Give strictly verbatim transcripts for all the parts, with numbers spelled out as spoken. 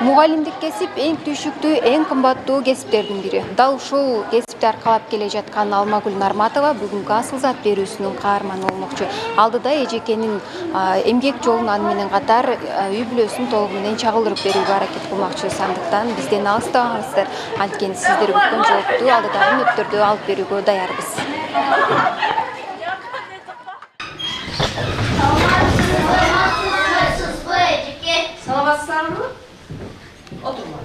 Мугалимдик кесип эң түшүктүү, эң кымбаттуу кесиптердин бири. Дал ушул кесипти аркалап келе жаткан Алмагүл Нарматова бүгүнкү асыл зат берүүсүнүн каарманы болмокчу. Алдыда эжекенин эмгек жолун аны менен катар үй бүлөсүн толугу менен чагылдырып берүүгө аракет кылмакчы. Андыктан бизден алыстабаңыздар. Анткени сиздер күткөн жоопту алдыдагы мүнөттөрдө алып берүүгө даярбыз. Саламатсыздарбы? Отурма.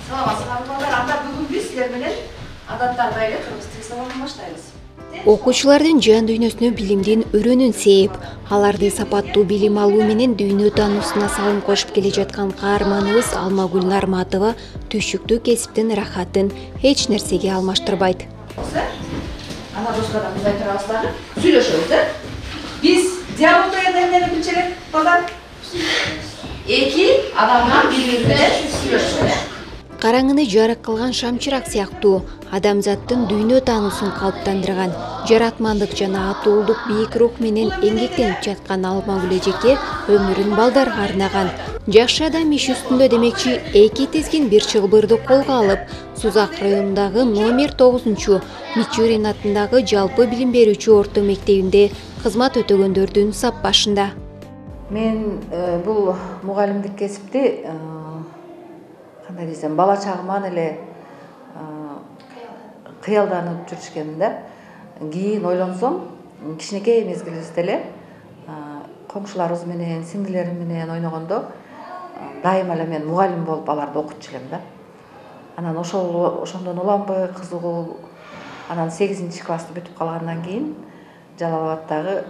Саламатсыздарбы балдар. Анда бүгүн биз силер менен адаттарда эле кыргыз тил сабагын баштайбыз. Окуучулардын жан дүйнөсүнө билимдин өрөөнүн сээп, аларды сапаттуу билим алуу менен дүйнө таануусуна салым кошуп келе жаткан каарманыбыз Алмагүл Нарматова түшүктүү кесиптин рахатын эч нерсеге алмаштырбайт. Ана доскада мындай турабыз дагы. Сүйлөшөбүз, э? Биз диалогияда эмнени билчү элек балдар? Эки адамдан бири менен сүйлөшөбүз. Караңгыны жарык кылган шамчырак сыяктуу адамзаттын дүйнө таануусун калыптандырган, жаратмандык жана атуулдук бийик рух менен эмгектенип жаткан Алмагүл эжеке өмүрүн балдарга арнаган. Жакшы адам иш үстүндө демекчи эки тизгин бир чылбырды колго алып, Сузак районундагы номер тогузунчу Мичурин атындагы жалпы билим берүүчү орто мектебинде кызмат өтөгөндөрдүн сап башында. Мен бул мугалимдик кесипти кандай десем, бала чагыман эле кыялданып жүрүшкенмин да. Кийин ойлонсом, кичинекей мезгилибизде эле коңшуларыбыз менен, сиңдилерим менен ойногондо дайыма эле мен мугалим болуп аларды окутчу элем да. Анан ошол ошондон уланбай кызыгуу, анан сегизинчи классты бүтүп калгандан кийин Жалал Абадтагы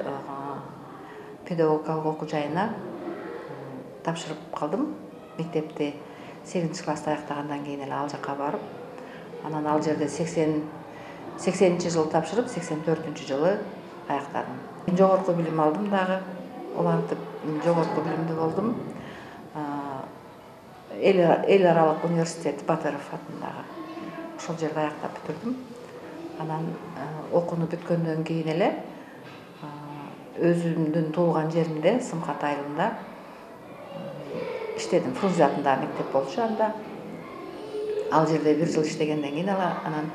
педагогикалык окуу жайына тапшырып калдым. Мектепти сегизинчи классты аяктагандан кийин эле ал жака барып, анан ал жерде сексенинчи жылы тапшырып, сексен төртүнчү жылы аяктадым. Жогорку билим алдым дагы, улантып жогорку билимдүү болдум. Эл аралык университет Батыров атындагы ошол жерде аяктап бүтүрдүм. Анан окууну бүткөндөн кийин эле өзүмдүн туулган жеримде, Сымкат айылында иштедим. Фрунзе атындагы мектеп болчу анда. Ал жерде бир жыл иштегенден кийин анан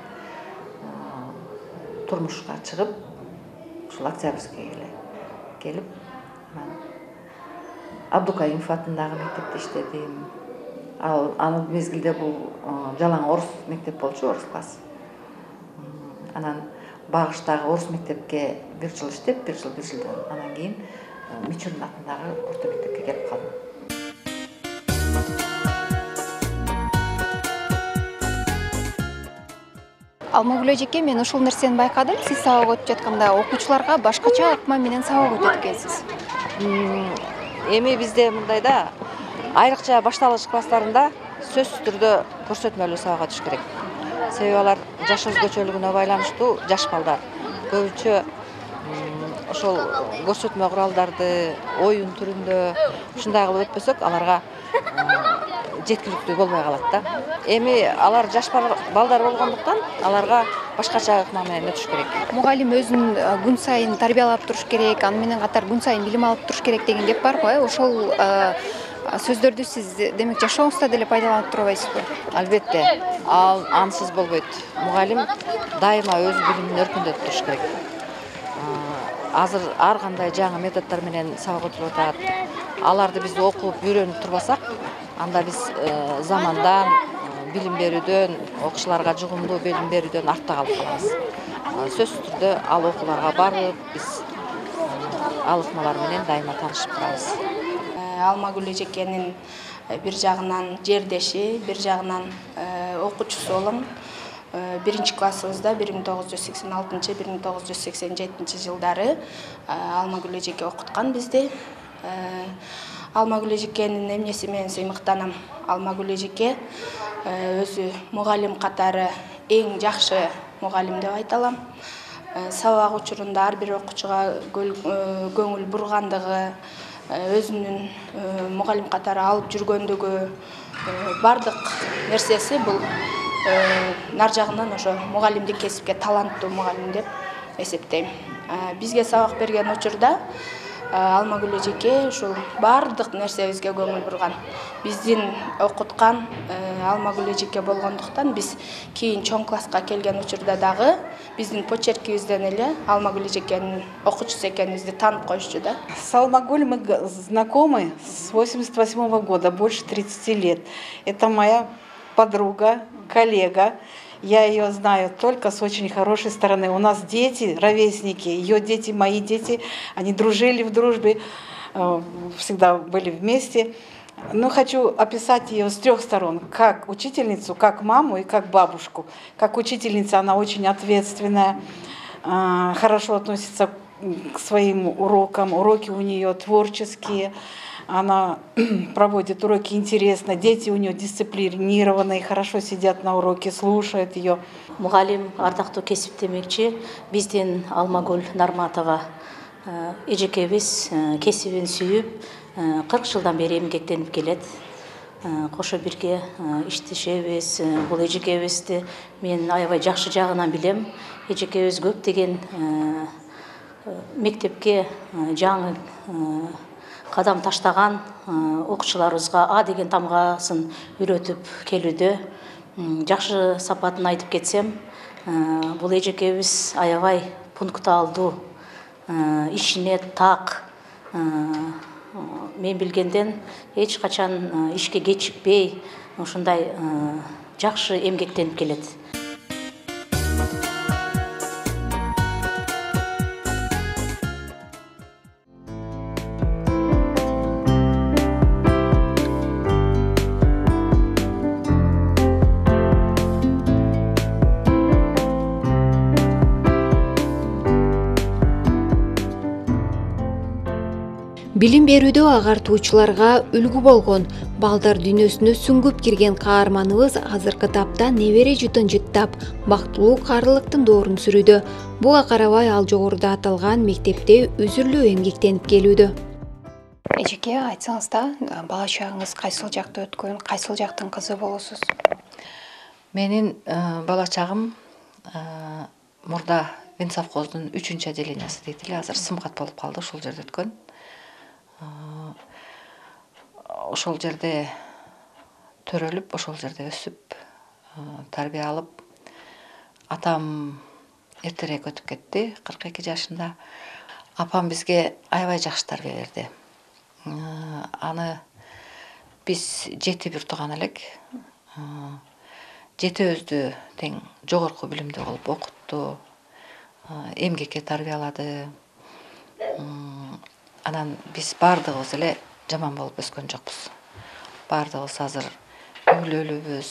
турмушка чыгып, ушул Октябрьскийге келип, анан Абдукаимов атындагы мектепте иштедим. Ал аны мезгилде бул жалаң орус мектеп болчу, орус класс. Анан Багыштагы орус мектепке бир жыл иштеп, бир жыл бир жылдан анан кийин Мичурин атындагы орто мектепке келип калдым. Алмагүл эжеке, мен ушул нерсени байкадым. Сиз сабак өтүп жатканда окуучуларга башкача ыкма менен сабак өтөт экенсиз. Эми бизде мындай да, айрыкча башталгыч класстарында сөзсүз түрдө көрсөтмөлүү сабакка түшүш керек. Себеби алар жаш өзгөчөлүгүнө байланыштуу жаш балдар. Көбүнчө ошол көрсөтмө куралдарды оюн түрүндө ушундай кылып өтпөсөк, аларга жеткиликтүү болбой калат да. Эми алар жаш балдар болгондуктан аларга башкача ыкма менен өтүш керек. Мугалим өзүн күн сайын тарбиялап туруш керек, аны менен катар күн сайын билим алып туруш керек деген кеп бар го. Ошол сөздөрдү сиз демек жашооңузда деле пайдаланып турбайсызбы? Албетте, ал ансыз болбойт. Мугалим дайыма өз билимин өркүндөтүп туруш керек. Азыр ар кандай жаңы методдор менен сабак өтүлүп атат. Аларды биз окуп, үйрөнүп турбасак, анда биз замандан, билим берүүдөн, окуучуларга жугумдуу билим берүүдөн артта калып калабыз. Сөзсүз түрдө ал окууларга барып, биз ал ыкмалар менен дайыма таанышып турабыз. Алмагүл эжекенин бир жагынан жердеши, бир жагынан окуучусу болом. Биринчи классыбызда бир миң тогуз жүз сексен алтынчы — бир миң тогуз жүз сексен жетинчи жылдары Алмагүл эжеке окуткан бизди. Алмагүл эжекенин эмнеси менен сыймыктанам? Алмагүл эжеке өзү мугалим катары эң жакшы мугалим деп айта алам. Сабак учурунда ар бир окуучуга көңүл бургандыгы, өзүнүн мугалим катары алып жүргөндүгү, бардык нерсеси бул нар жагынан ошо мугалимдик кесипке таланттуу мугалим деп эсептейм. Бизге сабак берген учурда Алмагүл эжеке ушул баардык нерсебизге көңүл бурган. Биздин окуткан Алмагүл эжеке болгондуктан биз кийин чоң класска келген учурда дагы биздин почеркибизден эле Алмагүл эжекенин окуучусу экенибизди таанып коюшчу да. С Алмагуль мы знакомы с восемьдесят восьмого года, больше тридцати лет. Это моя подруга, коллега. Я ее знаю только с очень хорошей стороны. У нас дети, ровесники, ее дети, мои дети, они дружили в дружбе, всегда были вместе. Но хочу описать ее с трех сторон. Как учительницу, как маму и как бабушку. Как учительница она очень ответственная, хорошо относится к своим урокам. Уроки у нее творческие. Она проводит уроки интересно. Дети у нее дисциплинированные, хорошо сидят на уроке, слушают ее. Мугалим, ардактуу кесип демекчи, биздин Алмагүл Нарматова эжекебиз кесибин сүйүп, кырк жылдан бери эмгектенип келет. Кошо бирге иштешебиз. Бул эжекебизди мен аябай жакшы жагынан билем. Эжекебиз көптөгөн мектепке жаңы кадам таштаган окуучуларыбызга А деген тамгасын үйрөтүп келүүдө. Жакшы сапатын айтып кетсем, бул эжекебиз аябай пунктуалдуу, ишине так. Мен билгенден эч качан ишке кечикпей, ушундай жакшы эмгектенип келет. Билим берүүдө агартуучуларга үлгү болгон, балдар дүйнөсүнө сүңгүп кирген каарманыбыз азыркы тапта небере жутун жыттап, бактылуу карылыктын доорун сүрүүдө. Буга карабай ал жогоруда аталган мектепте үзүрлүү эмгектенип келүүдө. Эжеке, айтсаңыз да, бала чагыңыз кайсыл жакта өткөн, кайсыл жактын кызы болосуз? Менин бала чагым мурда Венцовхоздун үчүнчү отделениясы дейт эле, азыр сымгат болуп калды, ошол жерде өткөн. Ошол жерде төрөлүп, ошол жерде өсүп, тарбия алып, атам эртерээк өтүп кетти, кырк эки жашында. Апам бизге аябай жакшы тарбия берди. Аны биз жети бир тууган элек. Жетөөбүздү тең жогорку билимдүү кылып окутту, эмгекке тарбиялады. Анан биз баардыгыбыз эле жаман болуп өскөн жокпуз. Баардыгыбыз азыр үйлүүлүбүз,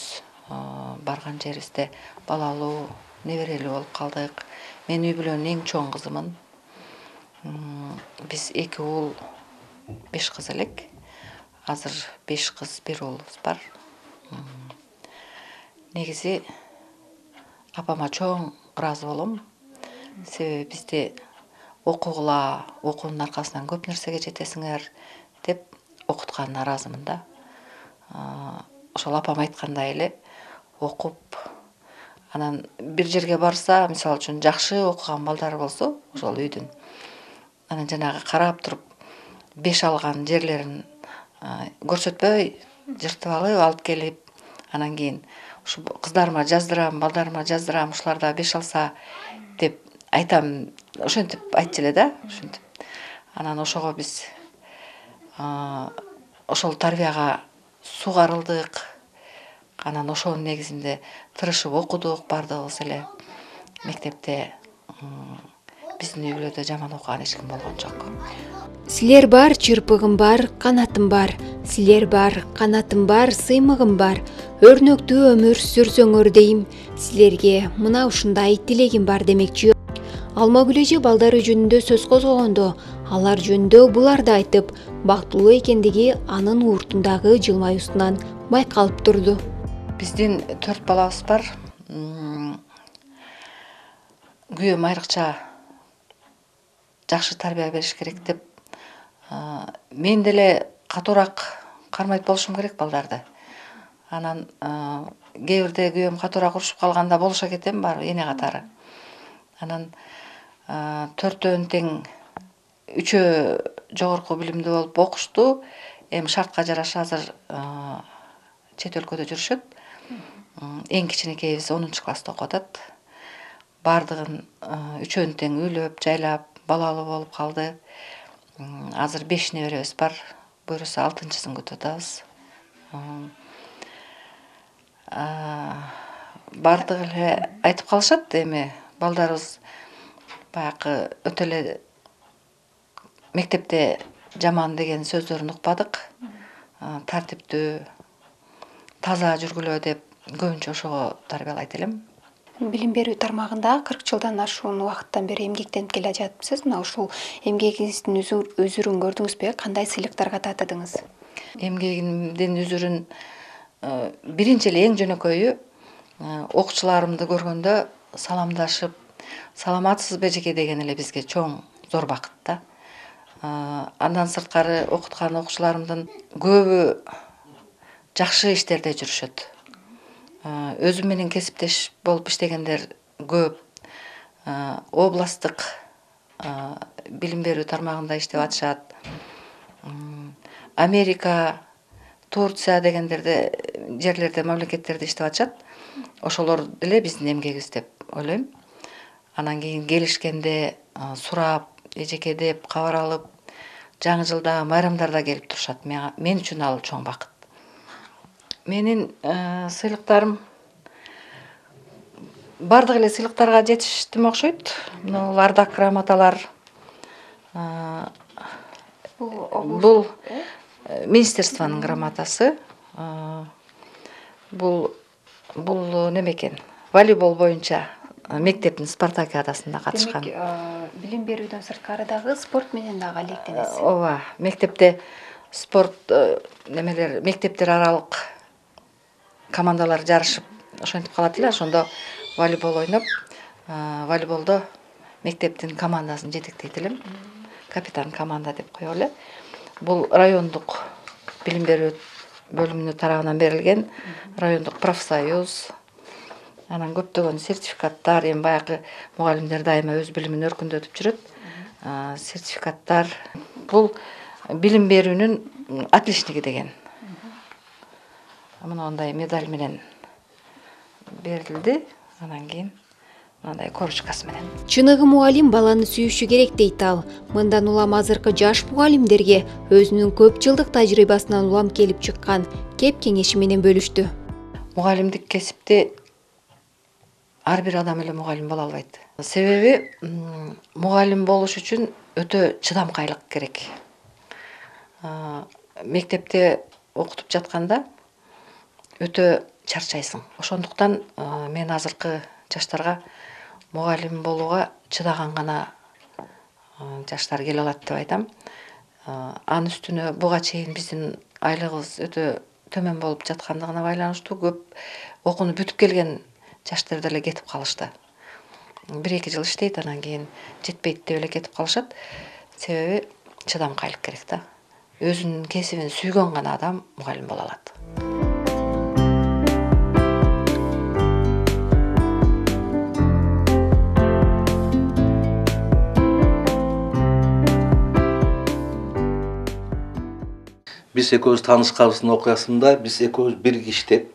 барган жерибизде балалуу, неберелүү болуп калдык. Мен үй бүлөнүн эң чоң кызымын. Биз эки уул, беш кыз элек. Азыр беш кыз, бир уулубуз бар. Негизи апама чоң ыраазы болом. Себеби бизди окугула, окуунун аркасынан көп нерсеге жетесиңер деп окутканына ыраазымын да. Ошол апам айткандай эле окуп, анан бир жерге барса, мисалы үчүн жакшы окуган балдар болсо, ошол үйдүн, анан жанагы карап туруп беш алган жерлерин көрсөтпөй, жыртып алып, алып келип, анан кийин ушу кыздарыма жаздырам, балдарыма жаздырам, ушулар да беш алса деп айтам, ошентип айтчу эле да, ошентип. Анан ошого биз ошол тарбияга сугарылдык. Анан ошонун негизинде тырышып окудук баардыгыбыз эле. Мектепте биздин үй бүлөдө жаман окуган эч ким болгон жок. Силер бар, чырпыгым бар, канатым бар. Силер бар, канатым бар, сыймыгым бар. Өрнөктүү өмүр сүрсөңөр дейм. Силерге мына ушундай тилегим бар демекчи. Алмагүл эже балдары жөнүндө сөз козгогондо, алар жөнүндө буларды айтып, бактылуу экендиги анын уртундагы жылмаюусунан байкалып турду. Биздин төрт балабыз бар. Күйөөм айрыкча жакшы тарбия бериш керек деп, мен деле катуураак кармайт болушум керек балдарды. Анан кээ бирде күйөөм катуураак урушуп калганда болуша кетем бар эне катары. Анан төртөөнүн тең үчөө жогорку билимдүү болуп окушту. Эми шартка жараша азыр чет өлкөдө жүрүшөт. Эң кичинекейибиз онунчу класста окуп атат. Бардыгын үчөөнү тең үйлөп, жайлап, балалуу болуп калды. Азыр беш неберебиз бар. Буюрса алтынчысын күтүп атабыз. Бардыгы эле айтып калышат, эми балдарыбыз баягы өтө эле мектепте жаман деген сөздөрүн укпадык. Тартиптүү, таза жүргүлө деп көбүнчө ошого тарбиялайт элем. Билим берүү тармагында кырк жылдан ашуун убакыттан бери эмгектенип келе жатыпсыз. Мына ушул эмгегиңиздин үзүрүн көрдүңүзбү? Кандай сыйлыктарга татыдыңыз? Эмгегимдин үзүрүн биринчи эле эң жөнөкөйү окуучуларымды көргөндө саламдашып, саламатсызбы эжеке деген эле бизге чоң зор бакыт да. Андан сырткары окуткан окуучуларымдын көбү жакшы иштерде жүрүшөт. Өзүм менен кесиптеш болуп иштегендер көп. Областтык билим берүү тармагында иштеп атышат. Америка, Турция дегендерде жерлерде, мамлекеттерде иштеп атышат. Ошолор деле биздин эмгегибиз деп ойлойм. Анан кийин келишкенде сурап, эжеке деп кабар алып, жаңы жылда, майрамдарда келип турушат. Мен үчүн ал чоң бакыт. Менин сыйлыктарым бардык эле сыйлыктарга жетиштим окшойт. Бул ардак грамоталар. Бул министерствонун грамотасы. Бул бул неме экен? Волейбол боюнча мектептин спартакиадасында катышкан. Демек, билим берүүдөн сырткары дагы спорт менен дагы алектенесиз. Ооба, мектепте спорт немелер, мектептер аралык командалар жарышып, ошентип калат эле. Ошондо волейбол ойноп, волейболдо мектептин командасын жетектейт элем. Капитан команда деп коелу эле. Бул райондук билим берүү бөлүмүнүн тарабынан берилген райондук профсоюз. Анан көптөгөн сертификаттар, эми баягы мугалимдер дайыма өз билимин өркүндөтүп жүрөт. Сертификаттар. Бул билим берүүнүн отличниги деген. Мындай медаль менен берилди. Анан кийин мындай корочкасы менен. Чыныгы мугалим баланы сүйүшү керек дейт ал. Мындан улам азыркы жаш мугалимдерге өзүнүн көп жылдык тажрыйбасынан улам келип чыккан кеп кеңеши менен бөлүштү. Мугалимдик кесипти ар бир адам эле мугалим боло албайт. Себеби мугалим болуш үчүн өтө чыдамкайлык керек. Мектепте окутуп жатканда өтө чарчайсың. Ошондуктан мен азыркы жаштарга мугалим болууга чыдаган гана жаштар келе алат деп айтам. Анын үстүнө буга чейин биздин айлыгыбыз өтө төмөн болуп жаткандыгына байланыштуу көп окууну бүтүп келген жаштар деле кетип калышты. бир эки жыл иштейт, анан кийин жетпейт деп эле кетип калышат. Себеби чыдамкайлык керек да. Өзүнүн кесибин сүйгөн гана адам мугалим боло алат. Биз экөөбүз таанышканыбыздын окуясында биз экөөбүз бирге иштеп,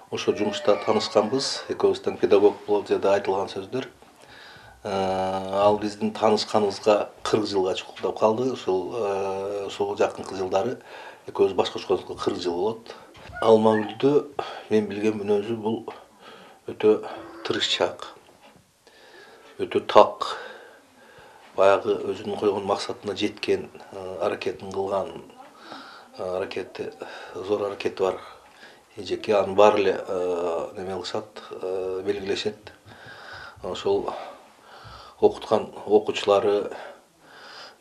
ошо жумушта таанышканбыз. Экөөбүздөн педагог болуп жерде айтылган сөздөр. Ал биздин таанышканыбызга кырк жылга чукулдап калды. Ушул ушул жакынкы жылдары экөөбүз башка чыкканыбызга кырк жыл болот. Алмагүлдө мен билген мүнөзү бул өтө тырышчаак, өтө так, баягы өзүнүн койгон максатына жеткен, аракетин кылган, аракети зор аракети бар эжеке, аны баары эле неме кылышат, белгилешет. Ошол окуткан окуучулары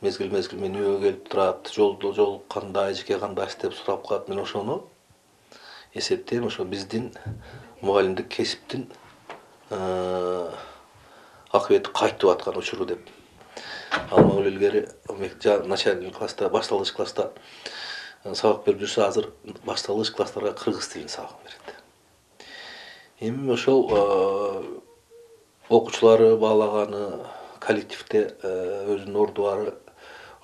мезгил мезгил менин үйгө келип турат, жолдо жолукканда эжеке кандайсыз деп сурап калат. Мен ошону эсептейм, ошо биздин мугалимдик кесиптин акыбети кайтып аткан учуру деп. Алмагүл илгери начальный класста, башталгыч класста сабак берип жүрсө, азыр башталгыч класстарга кыргыз тилин сабак берет. Эми ошол окуучулары баалаганы, коллективде өзүнүн орду бары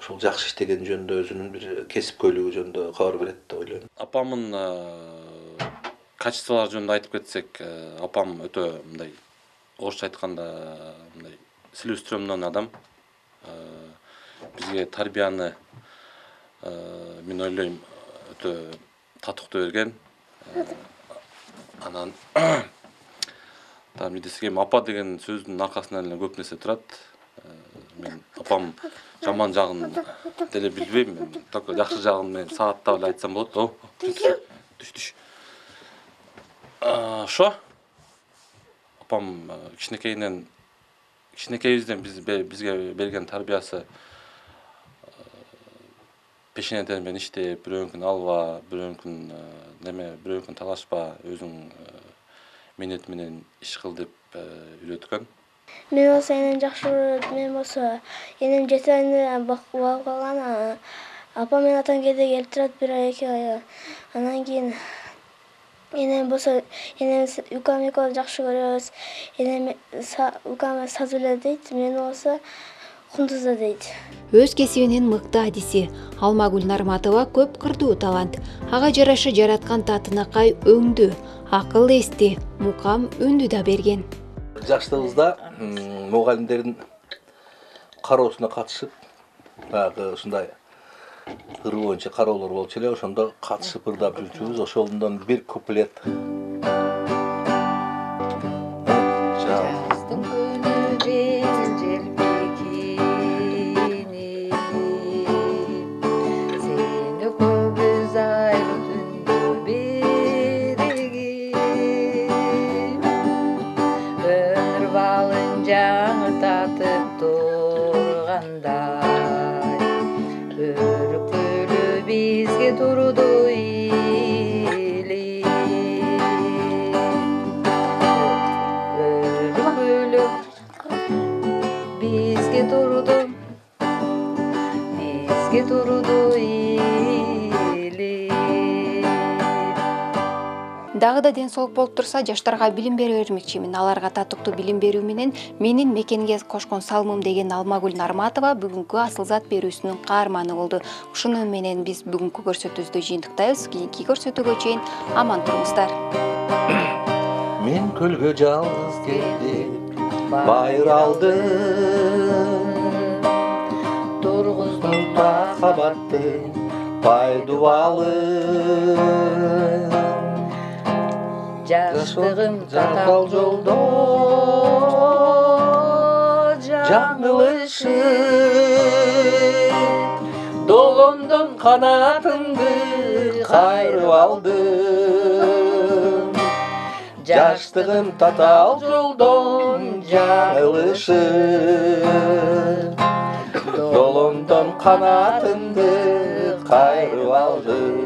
ошол жакшы иштеген жөнүндө өзүнүн бир кесипкөйлүгү жөнүндө кабар берет деп ойлойм. Апамдын качестволору жөнүндө айтып кетсек, апам өтө мындай орусча айтканда мындай целеустремдон адам. Бизге тарбияны мен ойлойм өтө татыктуу берген. Анан там эмне десек эми апа деген сөздүн аркасынан эле көп нерсе турат. Мен апам жаман жагын деле билбейм. Мен только жакшы жагын мен сааттап эле айтсам болот. О, түш түш. Ошо. Апам кичинекейинен кичинекейибизден биз бизге берген тарбиясы пешенеден менен иштеп, бирөөнкүн алба, бирөөнкүн неме, бирөөнкүн талашпа, өзүң менет менен иш кыл деп үйрөткөн. Мен болсо энем жакшы көрөт, мен болсо энем жети айында багып калган. Апам менен атам кээде келип турат бир ай, эки ай. Анан кийин энем болсо энем укам экөөбүз жакшы көрөбүз. Энем укам саз эле дейт, мен болсо кундузда дейт. Өз кесибинин мыкты адиси Алмагүл Нарматова көп кырдуу талант. Ага жараша жараткан татынакай өңдү, акыл эсти, мукам үндү да берген. Жаштыгыбызда мугалимдердин кароосуна катышып, баягы ушундай ыр боюнча кароолор болчу эле, ошондо катышып ырдап жүрчүбүз. Ошондон бир куплет. Дагы да ден соолук болуп турса, жаштарга билим бере бермекчимин. Аларга татыктуу билим берүү менен менин мекенге кошкон салымым деген Алмагүл Нарматова бүгүнкү асыл зат берүүсүнүн каарманы болду. Ушуну менен биз бүгүнкү көрсөтүүбүздү жыйынтыктайбыз. Кийинки көрсөтүүгө чейин аман туруңуздар. Мен көлгө жалгыз келип байыр алдым, тургуздум махабаттын пайдубалын. Жаштыгым татал жолдо жаңылышып, долондон канатымды кайрып алдым. Жаштыгым татал жолдон жаңылышып, долондон канатымды кайрып алдым.